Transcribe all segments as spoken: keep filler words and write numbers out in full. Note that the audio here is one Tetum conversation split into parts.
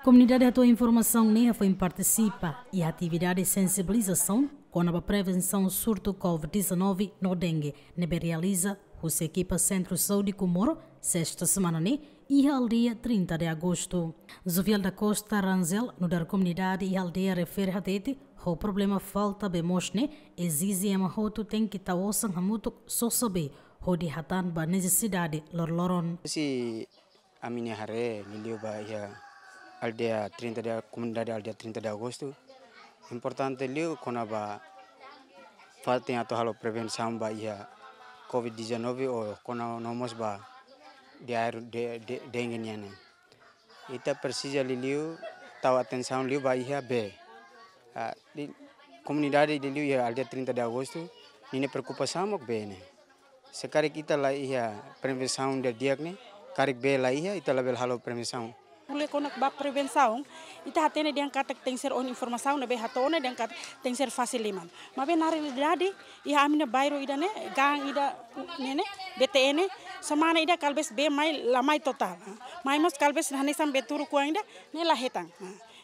Komunidade hato'o informasaun ne'e hafoin partisipa iha atividade sensibilizasaun kona-ba prevensaun surtu covid dezanove no dengue ne'ebé realiza husi ekipa Sentru Saúde Comoro, sesta semana ne'e, iha aldeia trinta de Agosto. Zuviel da Costa Ranzel, nu'udar komunidade iha aldeia refere hatete, ho problema falta bee moos ne'e ezije ema hotu tenke tau osan hamutuk sosa bee hodi hatán ba nesesidade loroloron. Se ami-nia haree liuliu ba iha aldeia trinta de, komunidade aldeia trinta de Agosto, importante liu kona-ba fatin atu halo prevensaun ba iha covid dezanove ou kona no mós ba diarreia de, de, dengue nian ne'e. Ita presiza liuliu tau atensaun liu ba iha bee. Ah, di komunidade liuliu iha aldeia trinta de Agosto, ninia preokupasaun mak bee ne'e. Se karik ita la iha prevensaun didi'ak ne'e, karik bee la iha, ita labele halo prevensaun. Ko'alia kona-ba prevensaun, ita hatene dehan katak tenke ser ona informasaun ne'ebé hato'o ona dehan katak tenke ser fasil liman. Maibé na realidade, iha ami-nia bairru ida-ne'e, gang ida ne'e ne'e, B T N, semana ida kalbes bee mai la mai totál. Mai mós kalbes hanesan bee turuk kuang ida, ne'e la hetan.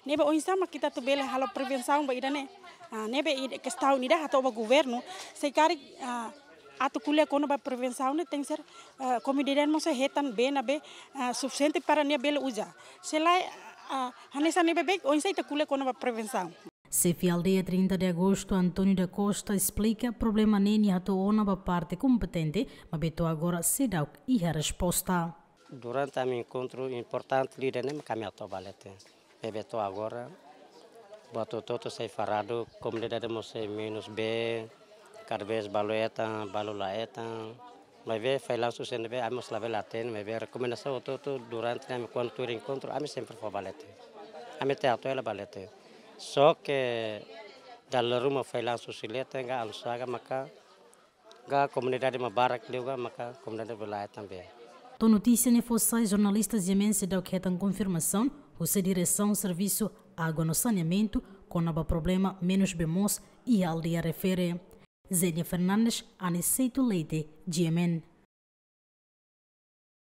Ne'ebé oinsá mak ita atu bele halo prevensaun ba ida-ne'e. Ah, ne'ebé ida kestaun ida hato'o ba governu, se karik, ah, atu ko'alia kona-ba prevensaun ne'e tenke ser, ah, komunidade mós hetan bee ne'ebé, ah, sufisiente para nia bele uza. Se lae, ah, hanesan ne'ebé bee, oinsá ita ko'alia kona-ba prevensaun. Xefe aldeia trinta de Agosto, António da Costa, esplika problema ne'e nia hato'o ona ba parte kompetente, maibé to'o agora seidauk iha resposta. Durante ami enkontru importante liu ida-ne'e mak ami hato'o ba leten. Maibé to'o agora, buat hotu-hotu sei faradu, komunidade mós sei menus bee, kada vez balu hetan, balu la hetan. Maibé failansu sira ne'ebé ami mós labele hatene, maibé rekomendasaun hotu-hotu durante ne'e ami kuandu tuir enkontru, ami sempre fó ba leten. Ami tenke hato'o hela ba leten. Só ke dala ruma failansu sira leten ka anu saga maka ka komunidade mak barak liu ka maka komunidade bele hetan bee. To'o notísia ne'e fó sai, jornalista GMN seidauk hetan konfirmasaun husi diresaun servisu água no saneamentu kona-ba problema menus bee moos iha aldeia refere. Zenia Fernandes, Aniceto Leite, GMN.